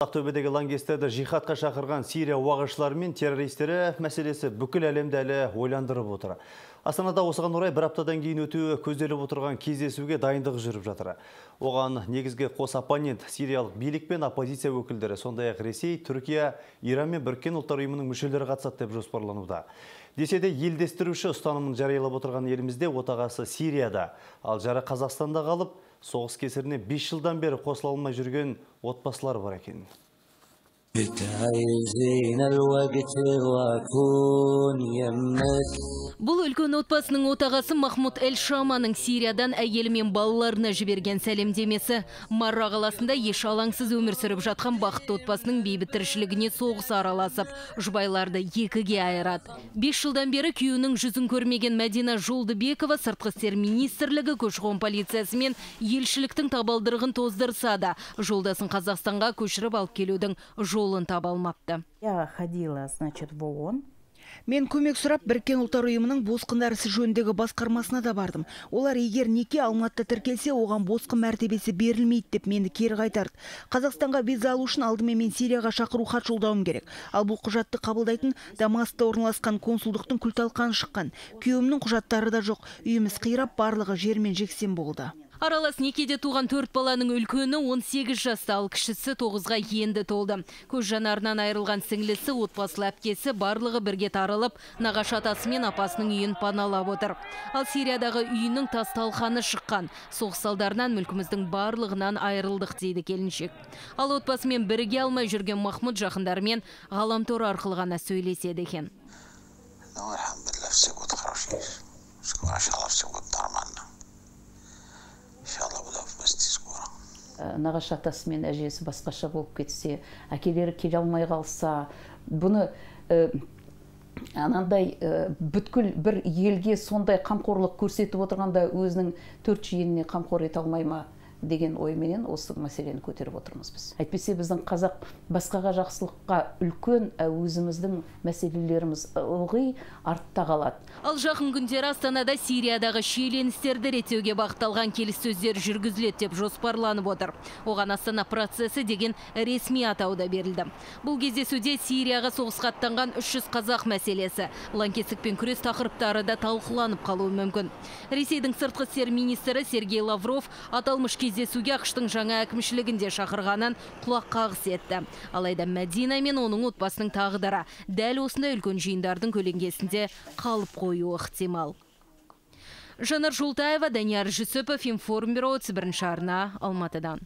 Ақтөбедегі лаңкестерді жихадқа шақырған Сирия уағызшылары мен террористері мәселесі бүкіл әлемді әлі ойландырып отыр. Астанада осыған орай бір аптадан кейін өтуі көзделіп отырған кездесуге дайындық жүріп жатыр. Оған негізгі қос оппонент сириялық билік пен оппозиция өкілдері, сондай-ақ Ресей, Түркия, Иран мен Біріккен Ұлттар ұйымының мүшелері қатысады деп жоспарлануда. Десе де елдестіруші ұстанымын жариялап отырған елімізде отағасы Сирияда, ал жары Қазақстанда қалып, соғыс кесіріне 5 жылдан бері қосыла алмай жүрген отбасылар бар екен. Бұл үлкен отбасының отағасы Махмуд Эль-Шаманың Сириядан әйелі мен балаларына жіберген сәлемдемесі. Марра қаласында еш алаңсыз өмір сүріп жатқан бақытты отбасының бейбіт тіршілігіне соғыс араласып, жұбайларды екіге айырады. 5 жылдан бері күйеуінің жүзін көрмеген Мәдина Жолдыбекова сыртқы істер министрлігі, көші-қон полициясы мен елшіліктің табалдырығын тоздырса да, жолдасын Қазақстанға көшіріп алып келудің жолын таба алмапты. Я ходила, значит, в ООН. Мен көмек сұрап Біріккен Ұлттар ұйымының босқындар ісі жөніндегі басқармасына да бардым. Олар егер неке Алматыда тіркелсе, оған босқын мәртебесі берілмейді деп мені кері қайтарды. Қазақстанға виза алу үшін алдымен мен Сирияға шақыру хат жолдауым керек. Ал бұл құжатты қабылдайтын Дамаскта орналасқан консулдықтың күл-талқаны шыққан. Күйеуімнің құжаттары да жоқ. Үйіміз қирап, барлығы жермен жексен болды. Аралас некеде туған 4 баланың үлкені 18 жаста, ал кішісі 9-ға енді толды. Көз жанарынан айырылған сіңлісі, отбасылы әпкесі барлығы бірге тарылып, нағашы атасы мен апасының үйін паналап отыр. Ал Сириядағы үйінің тас-талқаны шыққан. Соғыс салдарынан мүлкіміздің барлығынан айырылдық дейді келіншек. Ал отбасымен бірге алмай жүрген Махмуд жақындарымен ғаламтор арқылы ғана сөйлеседі екен. Нағашы атасы мен әжесі басқаша болып кетсе, әкелері келе алмай қалса, бұны анандай бүткіл бір елге сондай қамқорлық көрсетіп отырғанда өзінің 4 жиеніне қамқор ете алмай ма деген ойменен осы мәселені көтеріп отырмыз біз. Әйтпесе біздің қазақ басқаға жақсылыққа үлкен, өзіміздің мәселелеріміз ылғи артта қалады. Ал жақын күндері Астанада Сириядағы шиеленістерді реттеуге бағытталған келіссөздер жүргізіледі деп жоспарланып отыр. Оған Астана процесі деген ресми атау да берілді. Бұл кездесуде Сирияға соғысқа аттанған 300 қазақ мәселесі, лаңкестікпен күрес тақырыптары да талқыланып қалуы мүмкін. Ресейдің сыртқы істер министрі Сергей Лавров аталмыш кездесуге ақштың жаңа әкімшілігінде шақырғанын құлақ қағыс етті. Алайда Мәдина мен оның отбасының тағдыры дәл осындай үлкен жиындардың көлеңкесінде қалып қоюы ықтимал. Жанар Жолтаева, Данияр Жүсіпов, Информбюро, 1 арна, Алматыдан.